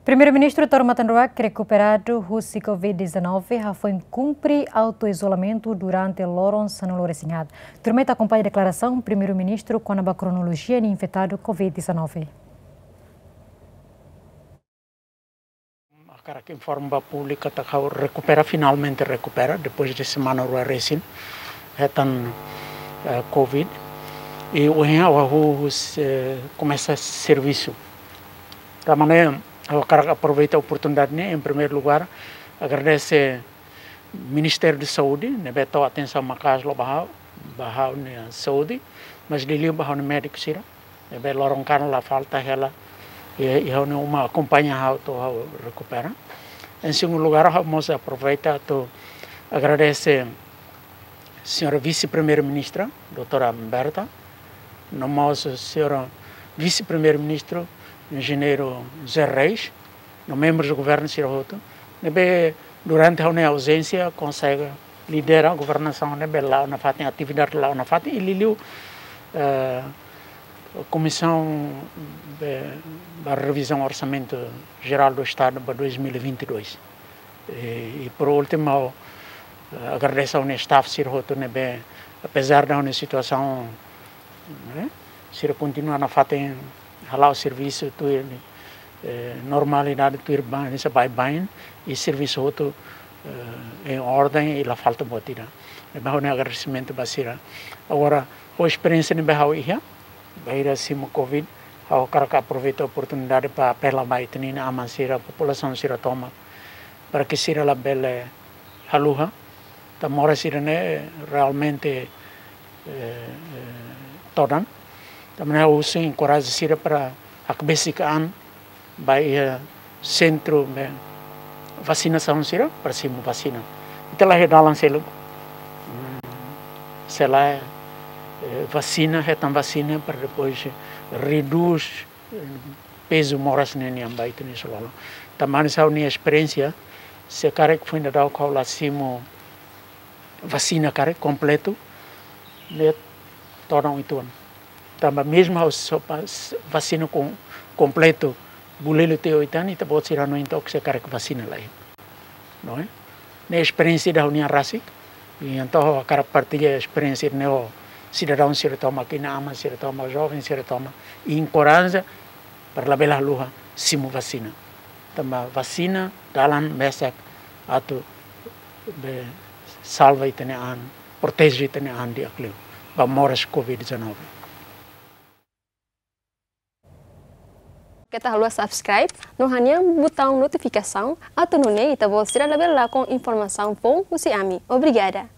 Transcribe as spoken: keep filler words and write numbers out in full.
Primeiru-Ministru Taur Matan Ruak rekuperadu husi Covid dezanove hafoin kumpre autoizolamentu durante loron sanulu-resin-haat. Tuirmai ita akompaña deklarasaun Primeiru-Ministru kona-ba kronolojia nia infetadu Covid dezanove. Hakarak informa ba públiku katak ha'u rekupera, finalmente rekupera, depois de semana rua resin hetan, eh, Covid. I ohin ha'u hahú, eh, komesa servisu. Tanba ne'e, ha'u hakarak aproveita oportunidade ne'e, em primeiro lugar, agradese Ministériu Saúde, ne'ebé tau atensaun maka'as loos ba ha'u, ba ha'u-nia saúde, mas liuliu ba ha'u-nia médiku sira, ne'ebé loron kalan la falta hela, i, i ha'u-nia uma akompaña ha'u to'o ha'u rekupera. Em segundo lugar, ha'u mós aproveita atu agradese Señora Vise-Primeiru-Ministra, doutora Berta, no mós Señora Vise-Primeiru-Ministru, Enjeñeiru José Reis, no membrus do governu sira hotu, ne'ebé durante ha'u-nia auzénsia konsege lidera governasaun ne'ebé la'o nafatin, atividade la'o nafatin, i liuliu, eh, Komisaun, eh, ba Revizaun Orsamentu Jerál do Estadu ba dois mil e vinte e dois. E, e por último, ha'u, eh, agradese ha'u-nia staff sira hotu ne'ebé, apezar de ha'u-nia situasaun, eh, sira kontinua nafatin hala'o servisu tuir, eh, normalidade tuir ba, hanesan baibain, i servisu hotu, eh, em ordem i la falta buat ida. Ne'ebé ha'u-nia agradesimentu ba sira. Agora, ho esperiénsia ne'ebé ha'u iha, bainhira simu Covid, ha'u hakarak aproveita oportunidade para apela ba ita-nia inan-aman sira, populasaun sira tomak, para que sira labele haluha. Tanba moras sira-ne'e realmente, eh, eh, todan. Tanba ne'e ha'u husu enkoraja sira para hakbesik an ba iha sentru ne'ebé vasinasaun sira para simu vasina. Ita la iha dalan seluk. Hmm, se lae, eh, vasina, hetan vasina para depois redús, eh, pezu moras ne'e nian ba ita-nia isin-lolon. Tanba hanesan ha'u-nia esperiénsia, se karik foin daudauk ha'u la simu vasina karik kompletu, ne'e todan uitoan. Tanba mezmu ha'u só pa-, s-, vasina kom-, kompletu, bulelu tiha oitan, ita-boot sira hanoin took se karik vasina lai. Não é? Ne'e esperiénsia ida ha'u-nian rasik, i entaun ha'u hakarak partilla esperiénsia ne'e ho sidadaun sira tomak, inan-aman sira tomak, joven sira tomak, i enkoraja para labele haluha simu vasina. Tanba vasina dalan mesak atu be salva ita-nia an, proteje ita-nia an di'ak liu ba moras Covid dezanove. Keta haluha subscribe no hanehan butaun notifikasaun atu nune'e ita-boot sira labele lakon informasaun foun husi ami. Obrigada.